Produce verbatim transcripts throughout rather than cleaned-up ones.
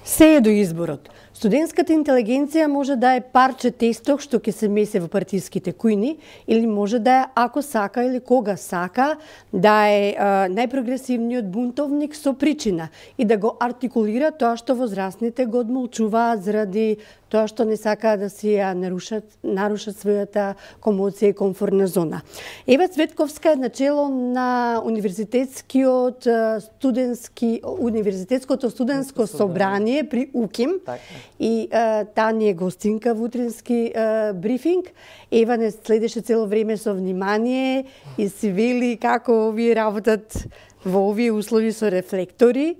Се е до изборот. Студентската интелигенција може да е парче тесток што ќе се месе во партиските кујни, или може да е, ако сака или кога сака, да е а, најпрогресивниот бунтовник со причина и да го артикулира тоа што возрастните го одмолчуваат заради тоа што не сакаат да си ја нарушат, нарушат својата комоција и комфортна зона. Ева Цветковска е начело на универзитетскиот студентски универзитетското студентско собрание при УКИМ. Так. И а, таа ни е гостинка во утрински а, брифинг. Ева не следеше цело време со внимание и си вели како овие работат во овие услови со рефлектори.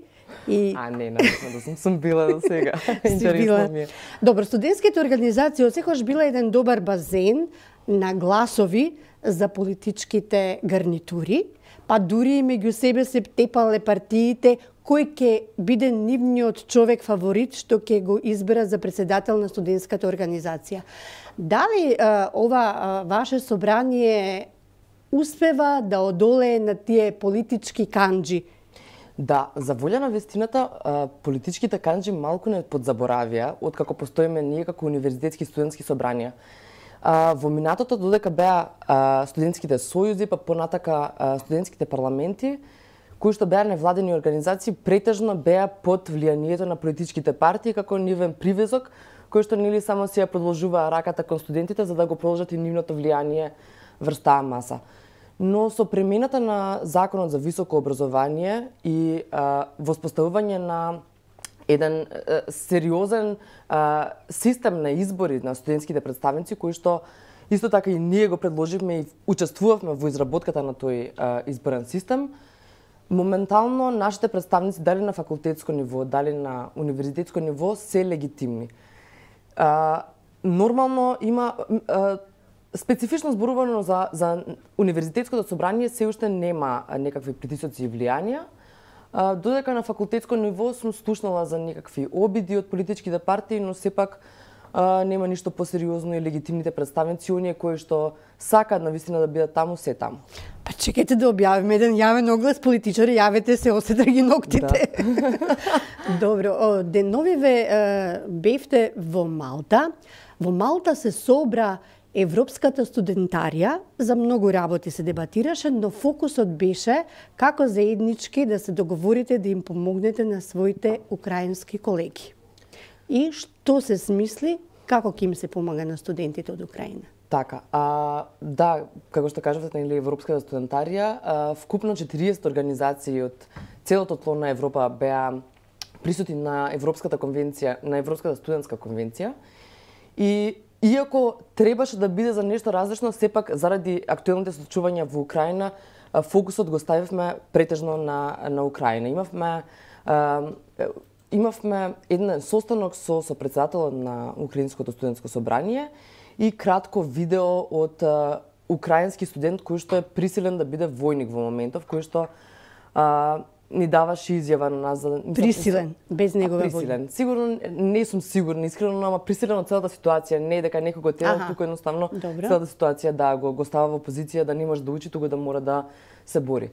И... А, не, наистина да сум, сум била до сега. Интересно ми е. Добро, студентските организации осекогаш била еден добар базен на гласови за политичките гарнитури, па дури и меѓу себе се тепале партиите кој ќе биде нивниот човек фаворит што ќе го избера за председател на студентската организација. Дали а, ова а, ваше собрание успева да одолее на тие политички канџи? Да, за волја на вестината, политичките канџи малку не подзаборавија откако постоиме ние како универзитетски студентски собранија. Во минатото, додека беа студентските сојузи, па понатака студентските парламенти, кои што беа невладени организации, претежно беа под влијанието на политичките партии како нивен привезок, кој што нели само си ја продолжуваа раката кон студентите за да го продолжат и нивното влијание врз таа маса. Но со премената на Законот за високо образование и а, воспоставување на еден а, сериозен а, систем на избори на студентските представници, кои што исто така и ние го предложивме и учествувавме во изработката на тој а, изборен систем, моментално нашите представници, дали на факултетско ниво, дали на универзитетско ниво, се легитимни. А, нормално има... А, Специфично зборувано за, за универзитетското собрание се уште нема некакви притисоци и влијанија, додека на факултетско ниво сум слушнала за некакви обиди од политичките партии, но сепак а, нема ништо посериозно и легитимните представници, оние кои што сакаат навистина да бидат таму, се таму. Па чекайте да објавиме еден јавен оглас, политичари, јавете се, осетра ги ноктите. Да. Добро, деновиве бевте во Малта. Во Малта се собра Европската студентарија, за многу работи се дебатираше, но фокусот беше како заеднички да се договорите да им помогнете на своите украински колеги. И што се смисли, како ќе им се помага на студентите од Украина? Така, а, да, како што кажавте, нели Европската студентарија, а, вкупно четириесет организации од целото тло на Европа беа присутни на Европската конвенција, на Европската студентска конвенција. И иако требаше да биде за нешто различно, сепак заради актуелните случувања во Украина, фокусот го ставивме претежно на на Украина. Имавме а, имавме еден состанок со со председателот на Украинското студентско собрание и кратко видео од а, украински студент кој што е присилен да биде војник во моментов, кој што а, ни даваше изјава на нас за присилен, без негова волја. Присилен. Сигурно не сум сигурна, искрено, ама присилен од целата ситуација, не дека некој го терал, туку едноставно Добро. Целата ситуација да го го става во позиција да не може да учи, туку да мора да се бори.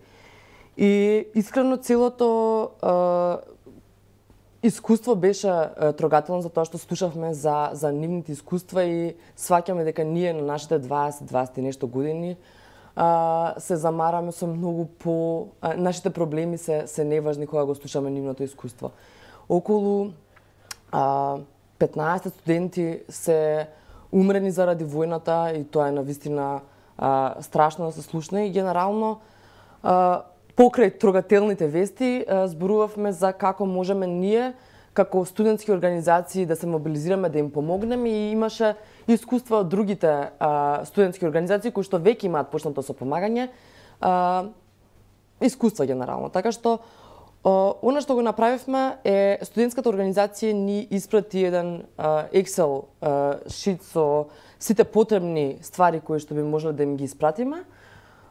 И искрено целото а, искуство беше а, трогателно за тоа што слушавме за за нивните искуства и сваќаме дека ние на нашите дваесет дваесет и нешто години Uh, се замараме со многу по... Uh, нашите проблеми се, се неважни кога го слушаме нивното искуство. Околу uh, петнаесет студенти се умрени заради војната и тоа е навистина uh, страшно да се слушне и генерално uh, покрај трогателните вести uh, зборувавме за како можеме ние како студентски организации да се мобилизираме да им помогнеме и имаше искуства од другите а, студентски организации кои што веќе имаат почнато со помагање, а, искуства генерално. Така што а, она што го направивме е студентската организација ни испрати еден а, Excel а, шит со сите потребни ствари кои што би можеле да им ги испратиме,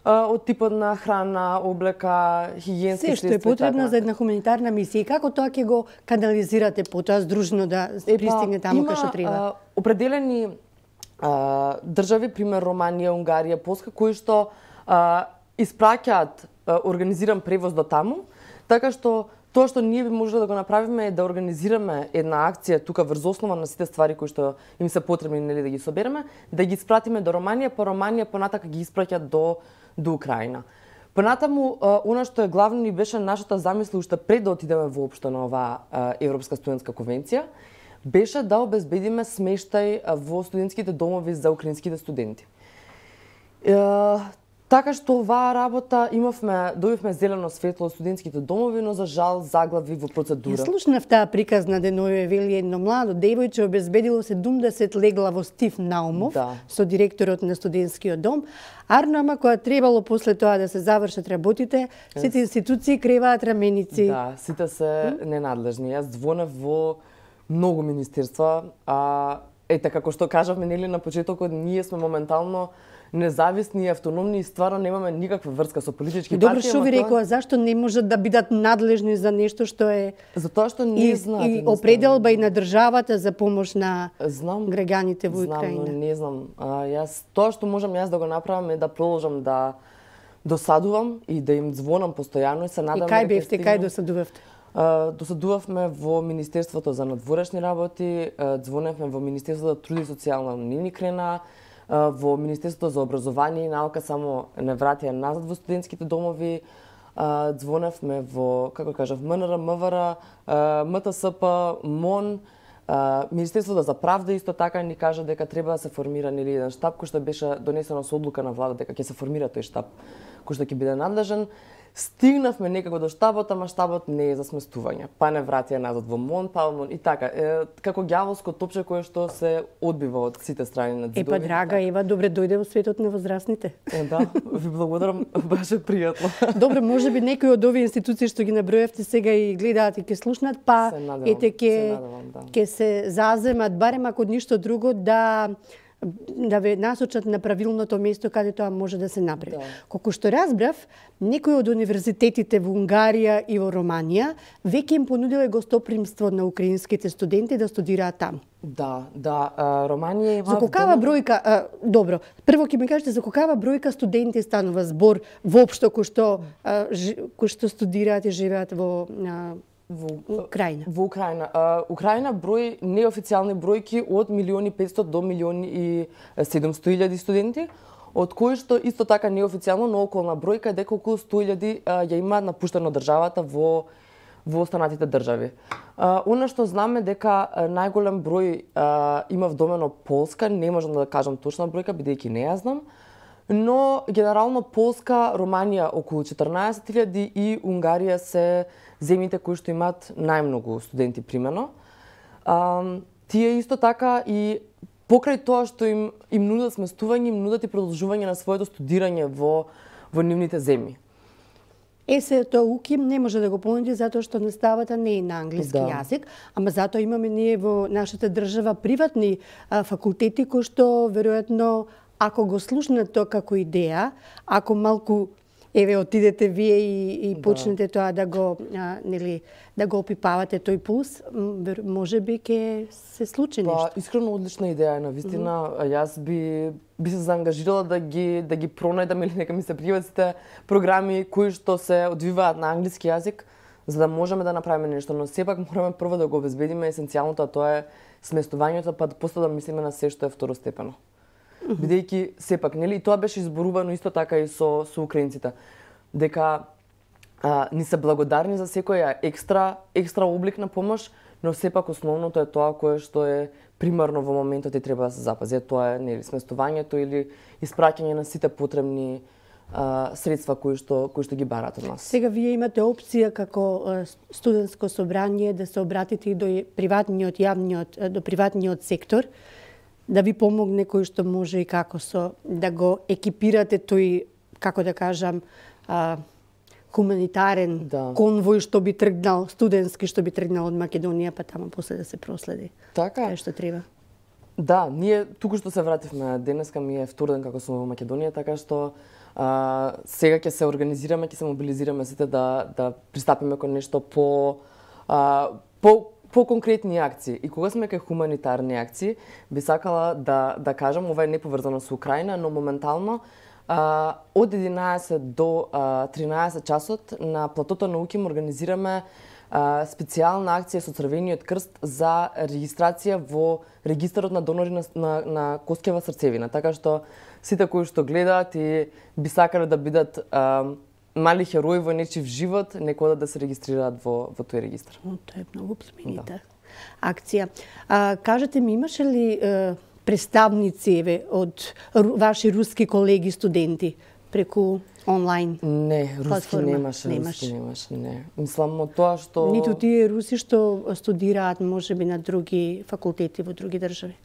од типот на храна, облека, хигиенски средства. Се што е потребно за една хуманитарна мисија. И како тоа ќе го канализирате потоа здружно да пристигне таму кај што треба? Има определени а, држави, пример Романија, Унгарија, Полска, кои што а, испраќаат организиран превоз до таму, така што Тоа што ние би можеле да го направиме е да организираме една акција тука врз основа на сите ствари кои што им се потребни, нели, да ги собереме, да ги испратиме до Романија, па Романија понатака ги испраќа до до Украина. Понатаму, она што е главно ни беше нашата замисла уште пред да отидеме воопшто на оваа Европска студентска конвенција, беше да обезбедиме смештај во студентските домови за украинските студенти. Така што оваа работа имавме, добивме зелено светло од студентските домови, но за жал заглави во процедура. Ја слушнав таа приказна деновиве, вели едно младо девојче обезбедило седумдесет легла во Стив Наумов, да, со директорот на студентскиот дом. Арно, ама кога требало после тоа да се завршат работите, сите институции креваат раменици. Да, сите се ненадлежни. Јас звонев во многу министерства, а ете како што кажавме, нели, на почетокот, ние сме моментално независни и автономни и стварно немаме никаква врска со политички партии. Добро, што ви рекоа, зашто не можат да бидат надлежни за нешто што е затоа што не знаат и определба и на државата за помош на знам, граѓаните во Украина? Знам, но не знам. А, јас тоа што можам јас да го направам е да продолжам да досадувам и да им звонам постојано и се надам. И кај бевте, кај досадувавте? Uh, досадувавме во Министерството за надворешни работи, uh, звоневме во Министерството за труд и социјална не ни крена, uh, во Министерството за образование и наука само не вратија назад во студентските домови, uh, звоневме во, како кажав, МНР, МВР, uh, МТСП, МОН, uh, Министерството за правда исто така ни кажа дека треба да се формира нели еден штаб кој што беше донесено со одлука на влада дека ќе се формира тој штаб кој што ќе биде надлежен. Стигнавме некако до штабот, ама штабот не е за сместување. Па не вратија назад во МОН, па во МОН и така. Е, како ѓаволско топче кое што се одбива од сите страни на ѕидови. Е, па драга Ева, добре дојде во светот на возрастните. Е, да, ви благодарам, беше пријатно. Добре, може би некои од овие институции што ги набројавте сега и гледаат и ќе слушнат, па ете ќе да. ќе се заземат барем ако ништо друго да да ве насочат на правилното место каде тоа може да се направи. Да. Колку што разбрав, некои од универзитетите во Унгарија и во Романија веќе им понудиле гостопримство на украинските студенти да студираат таму. Да, да, Романија има... За колкава бројка, а, добро, прво ќе ми кажете за колкава бројка студенти станува збор воопшто кои што а, ж, кои што студираат и живеат во а, во Украина. Во Украина. Uh, Украина број неофицијални бројки од милиони петстотини до милиони и седумстотини илјади студенти, од кои што исто така неофицијално, но околна бројка е дека околу сто илјади uh, ја имаат напуштено државата во во останатите држави. Uh, Она што знаме дека uh, најголем број uh, има вдомено Полска, не можам да кажам точна бројка бидејќи не ја знам, но генерално Полска, Романија околу четрнаесет илјади и Унгарија се земјите кои што имаат најмногу студенти примено. А, тие исто така и покрај тоа што им им нудат сместување, им нудат и продолжување на своето студирање во во нивните земји. ЕСЕ-то УКИМ не може да го понуди затоа што наставата не е на англиски да. јазик, ама затоа имаме ние во нашата држава приватни а, факултети кои што веројатно ако го слушнат тоа како идеја, ако малку еве отидете вие и, и почнете да. тоа да го а, нели да го опипавате тој пулс, може би ќе се случи па, нешто. Искрено одлична идеја е навистина. Mm -hmm. Јас би би се заангажирала да ги да ги пронајдам или нека ми се пријават сите програми кои што се одвиваат на англиски јазик за да можеме да направиме нешто, но сепак мораме прво да го обезбедиме есенцијалното, а тоа е сместувањето, па после да мислиме на се што е второстепено. Mm -hmm. Бидејќи сепак, нели, и тоа беше изборувано исто така и со со украинците, дека а, ни се благодарни за секоја екстра екстра облик на помош, но сепак основното е тоа кое што е примарно во моментот и треба да се запази. Тоа е нели сместувањето или испраќање на сите потребни а, средства кои што кои што ги бараат од нас. Сега вие имате опција како студентско собрание да се обратите и до приватниот јавниот до приватниот сектор да ви помогне кој што може и како со да го екипирате тој, како да кажам, а, хуманитарен да. конвој што би тргнал, студентски што би тргнал од Македонија, па таму после да се проследи. Така. Кај што треба. Да, ние туку што се вративме, денеска ми е втор ден како сум во Македонија, така што а, сега ќе се организираме, ќе се мобилизираме сите да да пристапиме кон нешто по а, по по конкретни акции. И кога сме кај хуманитарни акции, би сакала да да кажам, ова е неповрзано со Украина, но моментално а, од единаесет до а, тринаесет часот на платото на УКИМ организираме а, специјална акција со Црвениот крст за регистрација во регистарот на донори на, на, на коскева срцевина. Така што сите кои што гледаат и би сакале да бидат а, мали херои во нечив живот, нека одат да се регистрираат во, во тој регистар. О, тоа е многу племенита да. акција. А, кажете ми, имаше ли е, представници еве, од ваши руски колеги студенти преку онлайн? Не, руски платформа? немаше, Немаш. руски немаше, не. Мислам од тоа што... Ниту тие руси што студираат можеби на други факултети во други држави?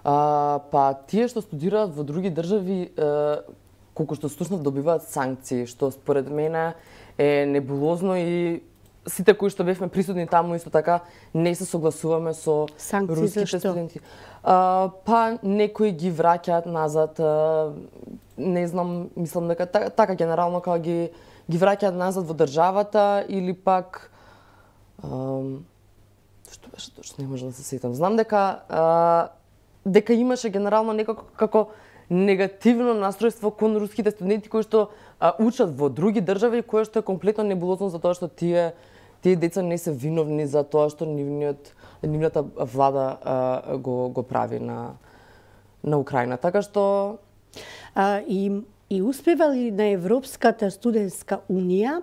А, па тие што студираат во други држави, е, колку што слушнав, добиваат санкции, што според мене е небулозно и сите кои што бевме присутни таму исто така не се согласуваме со санкции руските зашто? студенти. А, па некои ги враќаат назад, а, не знам, мислам дека така, така генерално кога ги ги враќаат назад во државата или пак а, што беше точно, не можам да се сетам. Знам дека а, дека имаше генерално некако како негативно настројство кон руските студенти кои што а, учат во други држави, кое што е комплетно небулозно за тоа што тие тие деца не се виновни за тоа што нивниот нивната влада а, го го прави на на Украина. Така што а, и и успева ли на Европската студентска унија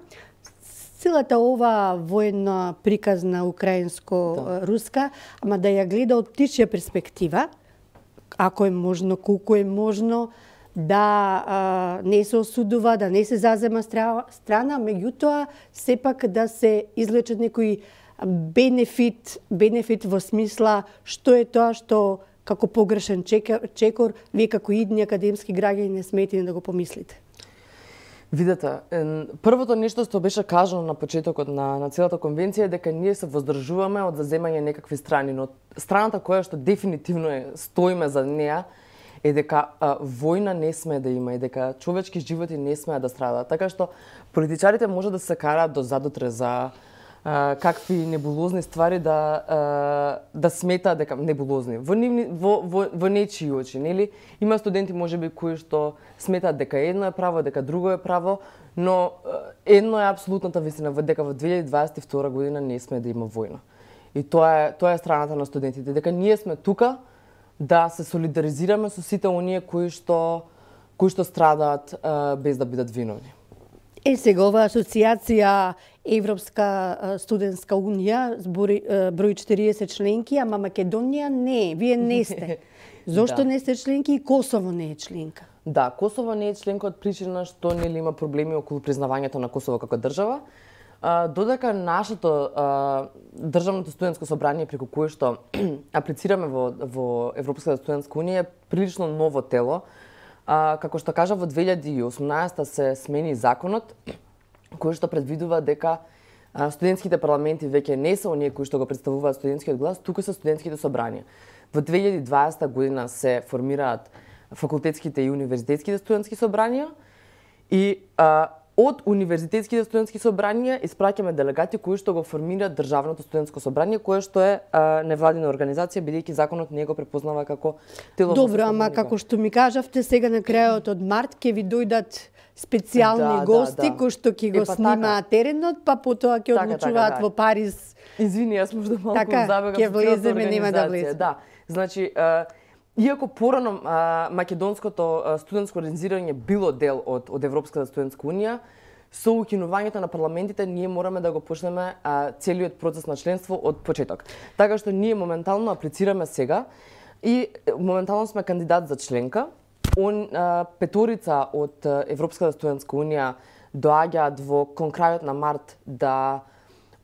целата ова воена приказна украинско-руска, ама да ја гледа од птичја перспектива, ако е можно, колку е можно, да а, не се осудува, да не се зазема стра, страна, меѓутоа сепак да се излечат некои бенефит, бенефит во смисла што е тоа што како погрешен чекор, чекор вие како идни академски граѓани не смете да го помислите. Видете, првото нешто што беше кажано на почетокот на, на целата конвенција е дека ние се воздржуваме од заземање некакви страни, но страната која што дефинитивно е, стоиме за неа, е дека а, војна не смее да има и дека човечки животи не смеат да страдат. Така што политичарите може да се караат до задутре за а, какви небулозни ствари да а, да сметаат дека небулозни во нивни во во, во нечии очи, нели? Има студенти можеби кои што сметаат дека едно е право, дека друго е право, но едно е апсолутната вистина, дека во две илјади дваесет и втора година не смее да има војна. И тоа е тоа е страната на студентите, дека ние сме тука да се солидаризираме со сите оние кои што кои што страдаат а, без да бидат виновни. Е, сега ова асоциација Европска студентска унија збори број четириесет членки, ама Македонија не, вие не сте. Зошто Да. не сте членки и Косово не е членка? Да, Косово не е членка од причина што нели има проблеми околу признавањето на Косово како држава. А, додека нашето а, државното студентско собрание преку кое што аплицираме во во Европската студентска унија е прилично ново тело. А, како што кажа, во две илјади и осумнаесета се смени законот кој што предвидува дека а, студентските парламенти веќе не се оние кои што го представуваат студентскиот глас, туку се студентските собранија. Во две илјади и дваесета година се формираат факултетските и универзитетските студентски собранија и а, од универзитетските студентски собранија испраќаме делегати кои што го формираат државното студентско собрание, кое што е а, невладина организација, бидејќи законот не го препознава како тело. Добро, ама како што ми кажавте, сега на крајот од март ќе ви дојдат специјални Да, гости да, да. кои што ќе го Е, па снимаат теренот, па потоа ќе Така, одлучуваат така, во Париз. Извини, јас можда малку Така, забегав ќе со целата влеземе, нема да организација. влеземе. Да, значи, а, иако порано а, македонското а, студентско организирање било дел од од Европската студентска унија, со укинувањето на парламентите ние мораме да го почнеме а, целиот процес на членство од почеток. Така што ние моментално аплицираме сега и моментално сме кандидат за членка. Он, а, петорица од Европската студентска унија доаѓаат во кон крајот на март да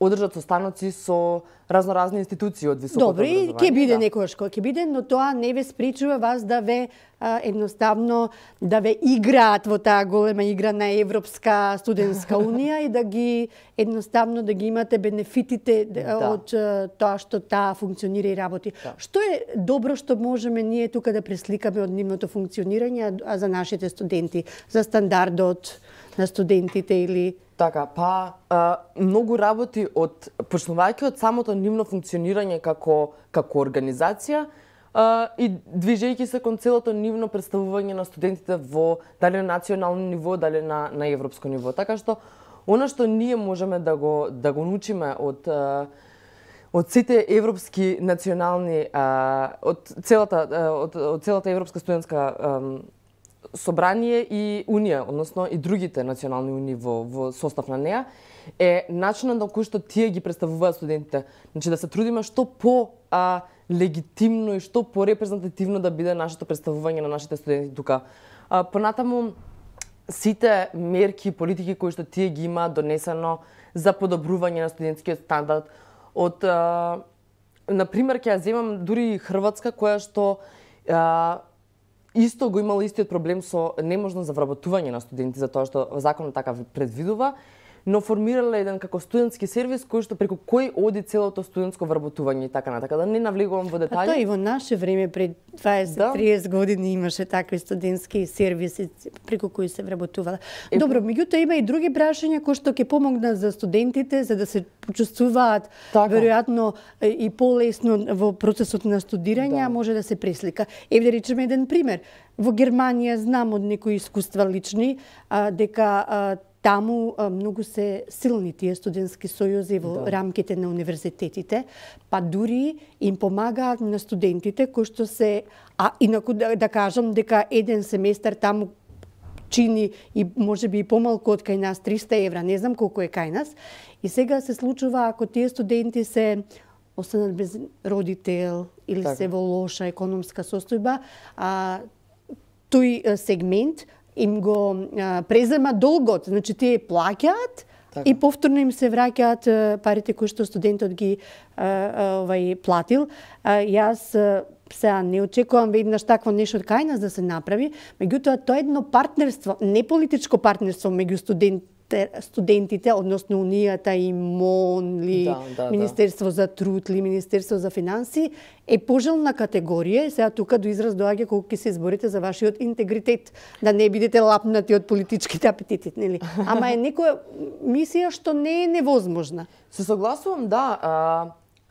одржат состаноци со разноразни институции од високото Добро, и образование. ќе биде да. некогаш кој ќе биде, но тоа не ве спречува вас да ве а, едноставно да ве играат во таа голема игра на Европска студентска унија и да ги едноставно да ги имате бенефитите да. од а, тоа што таа функционира и работи. Да. Што е добро што можеме ние тука да пресликаме од нивното функционирање, а за нашите студенти, за стандардот на студентите или Така, па а, многу работи од почнувајќи од самото нивно функционирање како како организација а, и движејќи се кон целото нивно представување на студентите во дали на национално ниво, дали на на европско ниво. Така што Она што ние можеме да го да го научиме од од сите европски национални од целата од, од целата европска студентска собрание и унија, односно и другите национални унии во во состав на неа, е начинот на кој што тие ги представуваат студентите. Значи да се трудиме што по а, легитимно и што по репрезентативно да биде нашето представување на нашите студенти тука. А, понатаму сите мерки, политики кои што тие ги имаат донесено за подобрување на студентскиот стандард од а, на пример ќе ја земам дури Хрватска која што а, исто го имала истиот проблем со неможност за вработување на студенти за тоа што законот така предвидува, но формирала еден како студентски сервис кој што преку кој оди целото студентско вработување и така натака. Да не навлегувам во детали. А тоа и во наше време пред дваесет триесет да. години имаше такви студентски сервиси преку кои се вработувала. Е, Добро, меѓутоа има и други прашања кои што ќе помогнат за студентите за да се почувствуваат така. Веројатно и полесно во процесот на студирање, да. а може да се преслика. Еве да речеме еден пример. Во Германија знам од некои искуства лични а, дека а, таму а, многу се силни тие студентски сојузи во да. рамките на универзитетите, па дури им помагаат на студентите кои што се, а инаку да, да кажам дека еден семестар таму чини и можеби и помалку од кај нас триста евра, не знам колку е кај нас. И сега се случува ако тие студенти се останат без родител или так. се во лоша економска состојба, а тој сегмент им го а, презема долгот, значи тие плаќаат така. и повторно им се враќаат парите кои што студентот ги а, а, овај платил. А, јас а, сега не очекувам веднаш такво нешто од кај нас да се направи, меѓутоа тоа е едно партнерство, не политичко партнерство меѓу студент студентите, односно Унијата и МОН, ли, да, да, Министерство да. за труд, ли, Министерство за финанси, е пожелна категорија и сега тука до израз доаѓа колку ќе се изборите за вашиот интегритет, да не бидете лапнати од политичките апетити, нели? Ама е некоја мисија што не е невозможна. Се согласувам, да. А,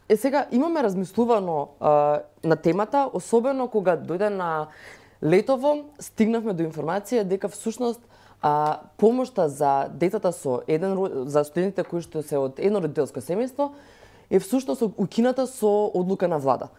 е сега имаме размислувано а, на темата, особено кога дојде на летово, стигнавме до информација дека всушност А помошта за децата со еден за студентите кои што се од едно родителско семејство е всушност укината со одлука на влада.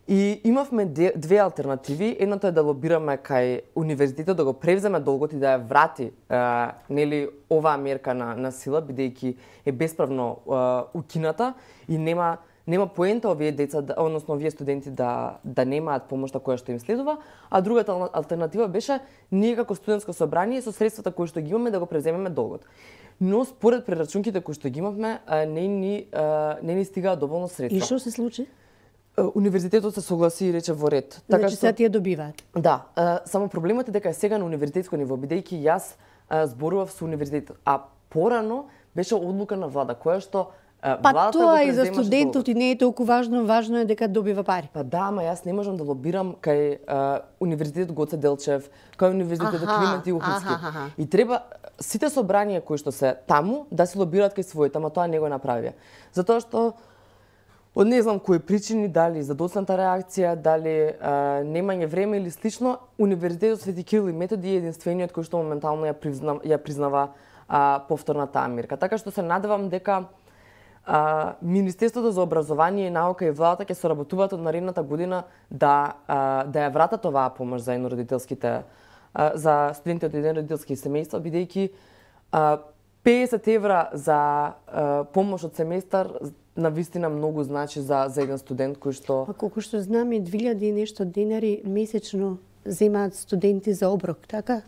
И имавме две алтернативи. Едната е да лобираме кај универзитетот да го превземе долгот и да ја врати а, нели оваа мерка на на сила бидејќи е бесправно а, укината и нема нема поента овие деца, односно овие студенти да да немаат помошта која што им следува, а другата алтернатива беше ние како студентско собрание со средствата кои што ги имаме да го преземеме долгот. Но според прерачунките кои што ги имавме, не ни не ни стигаа доволно средства. И што се случи? Универзитетот се согласи и рече во ред. Така значи што тие добиваат. Да, само проблемот е дека е сега на универзитетско ниво, бидејќи јас зборував со универзитетот, а порано беше одлука на влада која што Па тоа и за студентот и не е толку важно, важно е дека добива пари. Па да, ама јас не можам да лобирам кај а, универзитетот Гоце Делчев, кај универзитетот Климент Илховски. И треба сите собранија кои што се таму да се лобираат кај своите, ама тоа не го направија. Затоа што од не знам кои причини, дали задоцната реакција, дали а, немање време или слично, универзитетот Свети Кирил и Методи е единствениот кој што моментално ја признава, ја признава а, повторната мерка. Така што се надевам дека А, Министерството за образование и наука и владата ќе соработуваат од наредната година да а, да ја вратат оваа помош за еднородителските а, за студенти од еднородителски семејства, бидејќи педесет евра за а, помош од семестар на вистина многу значи за за еден студент кој што А колку што знаме две илјади и нешто денари месечно земаат студенти за оброк, така?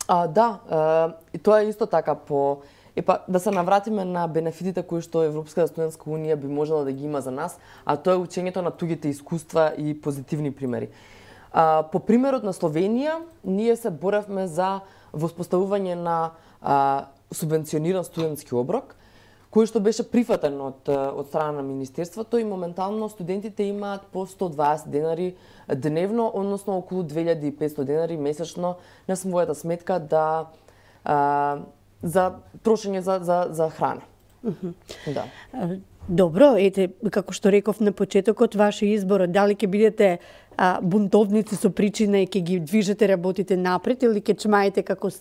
А, да, а, и тоа е исто така по Епа, да се навратиме на бенефитите кои што Европската студентска унија би можела да ги има за нас, а тоа е учењето на тугите искуства и позитивни примери. А, по примерот на Словенија, ние се боревме за воспоставување на а, субвенциониран студентски оброк, кој што беше прифатен од, од страна на Министерството и моментално студентите имаат по сто и дваесет денари дневно, односно околу две илјади и петстотини денари месечно на својата сметка да а, за трошење за за за храна. Mm-hmm. Да. Добро, ете, како што реков на почетокот, ваш избор, дали ќе бидете а, бунтовници со причина и ќе ги движете работите напред или ќе чмаете како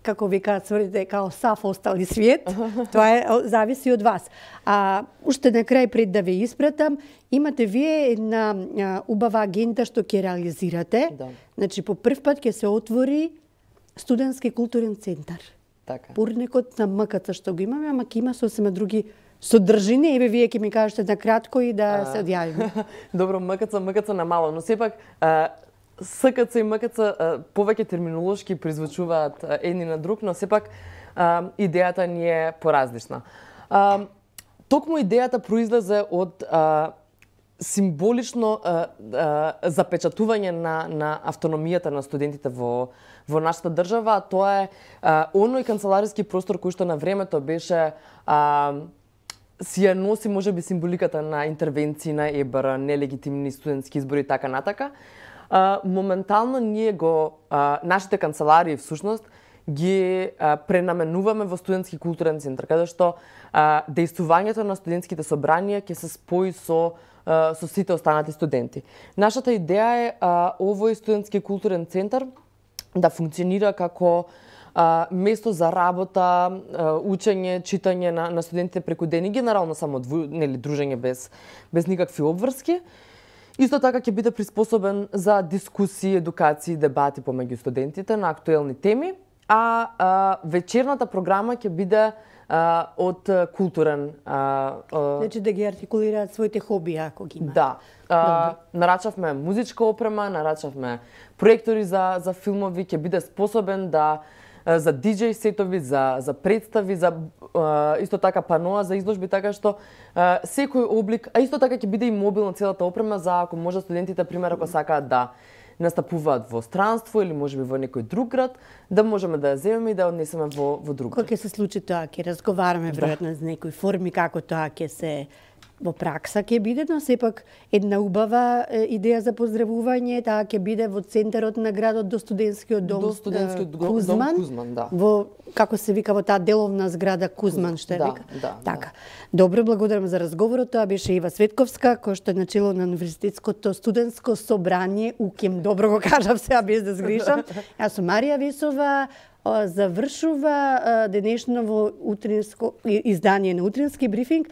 како ви кажете, као сав остали свет, тоа е, зависи од вас. А уште на крај пред да ве испратам, имате вие една а, убава агента што ќе реализирате. Да. Значи по прв пат ќе се отвори студентски културен центар. Така. Пурникот на МКЦ што го имаме, ама ќе има сосема други содржини, еве вие ќе ми кажете на кратко и да се одјавиме. Добро, МКЦ, МКЦ на мало, но сепак а, СКЦ и МКЦ а, повеќе терминолошки призвучуваат а, едни на друг, но сепак а, идејата ни е поразлична. А, токму идејата произлезе од а, символично а, а, запечатување на, на автономијата на студентите во, во нашата држава. Тоа е а, оној канцелариски простор кој што на времето беше а, си ја носи можеби символиката на интервенции на ЕБР, нелегитимни студентски избори и така натака. А, моментално ние го а, нашите канцеларии всушност ги а, пренаменуваме во студентски културен центар, каде што а, дејствувањето на студентските собранија ќе се спои со а, со сите останати студенти. Нашата идеја е а, овој студентски културен центар да функционира како а, место за работа, а, учење, читање на, на студентите преку ден и генерално само дву, нели дружење без без никакви обврски. Исто така ќе биде приспособен за дискусии, едукации, дебати помеѓу студентите на актуелни теми, а, а вечерната програма ќе биде а, од културен... А, а... Значи да ги артикулираат своите хобии, ако ги имаат. Да. А, нарачавме музичка опрема, нарачавме проектори за, за филмови, ќе биде способен да за диџеј сетови, за, за представи, за а, исто така паноа за изложби, така што а, секој облик, а исто така ќе биде и мобилна целата опрема за ако може студентите, пример, ако сакаат да настапуваат во странство или можеби во некој друг град, да можеме да ја земеме и да ја однесеме во, во друг град. Кога ќе се случи тоа, ќе разговараме веројатно за некои форми како тоа ќе се во пракса ќе биде, но сепак една убава идеја за поздравување, таа ќе биде во центарот на градот до студентскиот дом, до студентскиот дом Кузман, дом Кузман, да. Во како се вика во таа деловна зграда Кузман, што е да, вика. Да, така. Да. Добро, благодарам за разговорот. Тоа беше Ива Светковска, која што е начело на Универзитетското студентско собрание УКИМ. Добро го кажав сега без да сгрешам. Јас сум Марија Весова. Завршува денешно во утринско издание на Утрински брифинг.